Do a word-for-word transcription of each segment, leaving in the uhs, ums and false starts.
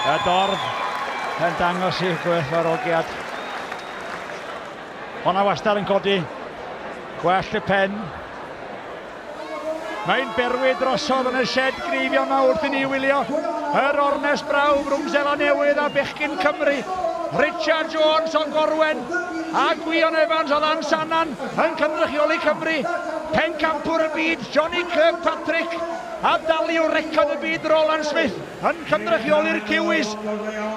Y dorf yn dangos i'w gwerthfawrogiad. Honna wastad yn codi. Gwell y pen. Mae'n berwi drosodd yn y shed gneifio yma wrth i ni wylio yr ornest brawf rhwng Seland Newydd a bechgyn Cymru. Richard Jones o Gorwen a Gwion Evans o Lansannan yn cynrychioli Cymru. Pencampwr y byd, Johnny Kirkpatrick, a daliwr record y byd Roland Smith yn cynrychioli'r Kiwis.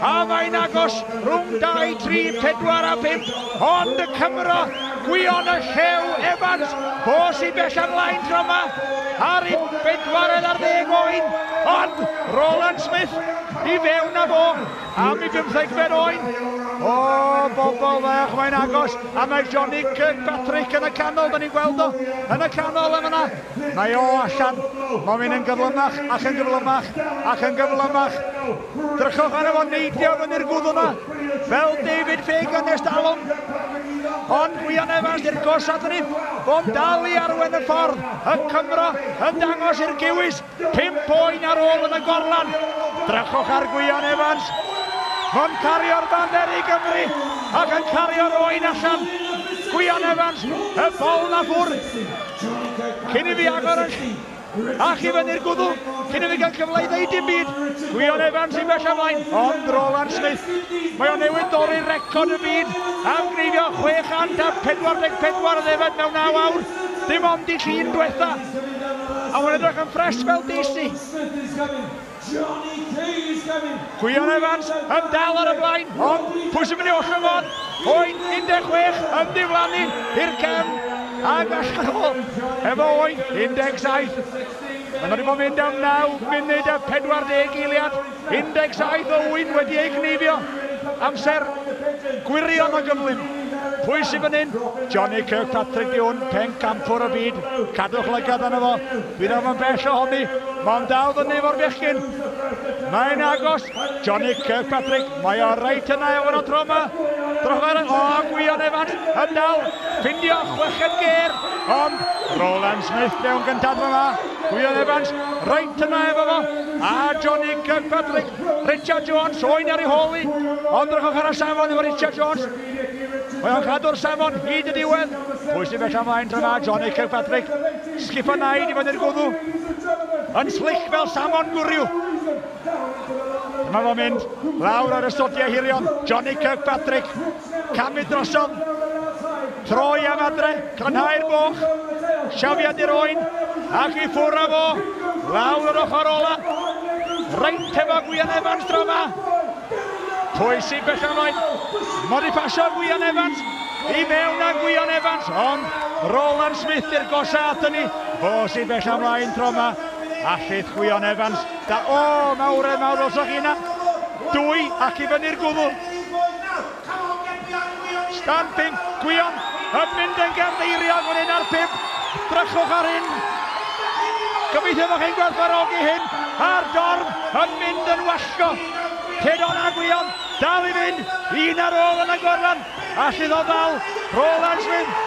A mae'n agos rhwng dau, tri, pedwar a pump, ond y Cymro, Gwion y Llew Evans, fo sy'n bell ymlaen tro yma, ar ei bedwaredd ar ddeg oen, ond Roland Smith i fewn â fo am ei bymthegfed oen. O, bobl fach, mae'n agos, a mae Johnny Kirkpatrick yn y canol, da ni'n gweld o, yn y canol yn yna. Mae o allan, mae'n mynd yn gyflymach, ac yn gyflymach, ac yn gyflymach. Drychwch arno fo neidio fyny'r gwddw yna, fel David Fagan ers talwm. Ond Gwion Evans di'r gosod ni, fo'n dal i arwen y ffordd, y Cymro yn dangos i'r Kiwis, pump oen ar ôl yn y gorlan. Drychwch ar Gwion Evans, fo'n cario'r baner i Gymru ac yn cario'r oen allan. Gwion Evans, y bol na ffwrdd. Cyn i fi agor y ac i fyny'r gwddw, cyn i fi gael cyfle i ddeud dim byd. Gwion Evans i bell ymlaen, ond Roland Smith, mae o newydd dorri record y byd am gneifio chwe chant a pedwar deg pedwar o ddefed mewn naw awr, dim ond i llun diwetha. A mae'n edrych yn ffres fel Daisy. Gwion Evans yn dal ar y blaen, ond pwy sy'n mynd i ollwng on? Oen un deg chwech yn diflannu i'r cefn ac allan o efo oen un deg saith. Mae'n wedi bod yn mynd am naw munud a pedwar deg eiliad. un deg saith o wyn wedi ei gneifio. Amser gwirion o gyflym. Pwy sy'n fan hyn? Johnny Kirkpatrick di hwn, pencampwr y byd. Cadwch lygad arno fo. Bydd o'n bell ohoni. Mae'n dal fyny efo'r bechgyn. Mae'n agos. Johnny Kirkpatrick, mae o reit yna efo'r tro yma. Drychwch ar y... O, Gwion Evans yn dal. Ffindio chweched gêr. Ond Roland Smith mewn gyntaf yma. Gwion Evans reit yna efo fo. A Johnny Kirkpatrick. Richard Jones, oen ar ei hôl i. Ond drychwch ar y safon efo Richard Jones. Mae o'n cadw'r safon hyd y diwedd. Pwy sy'n bell ymlaen tro yma? Johnny Kirkpatrick. Sgip o naid i fyny'r gwddw. Yn slick fel samon gwryw. Dyma fo'n mynd lawr ar y stodiau hirion. Johnny Kirkpatrick. Camu drosodd. Troi am adre. Crynhau'r boch. Siafiad i'r oen. Ac i ffwrdd â fo. Lawr yr ochr ola. Reit efo Gwion Evans tro yma. Pwy sy'n bell ymlaen? Mod i pasio Gwion Evans. I mewn â Gwion Evans. Ond Roland Smith i'r gosa ato ni. Fo sy'n bell ymlaen tro yma. Allith Gwion Evans. Da, o, mawredd mawr os o'ch chi yna. Dwy ac i fyny'r gwddw. Stan pump, Gwion yn mynd yn gynddeiriog fan hyn ar pump. Drychwch ar hyn. Gobeithio fod chi'n gwerthfawrogi hyn. A'r dorf yn mynd yn wallgo. Cedon a Gwion dal i fynd. Un ar ôl yn y gorlan. Allith o ddal Roland Smith.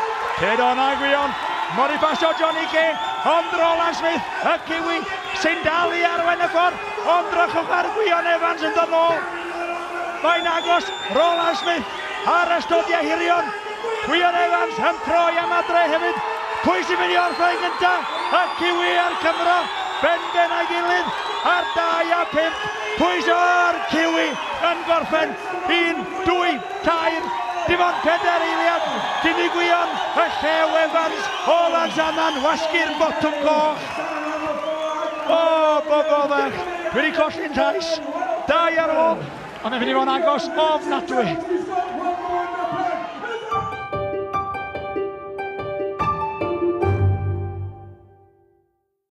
Cedon a Gwion. Mor i basio Johnny Kay. Ond Roland Smith, y Kiwi, sy'n dal i arwain y ffordd. Ond drychwch ar Gwion Evans yn dod nôl. Mae'n agos Roland Smith ar y stodiau hirion. Gwion Evans yn troi am adre hefyd. Pwy sy'n mynd i orffen gyntaf? Y Kiwi a'r Cymro, benben a'i gilydd ar dau a pump. Pwy sy'n Kiwi yn gorffen? Un, dwy, tair, dim ond pedair eiliad. Cyn i Gwion, y Llew Evans, o Lansannan, wasgu'r botwm coch. O, bobl fach, dwi wedi colli'n llais. Dau ar ôl, ond mae'n mynd i fod yn agos ofnadwy.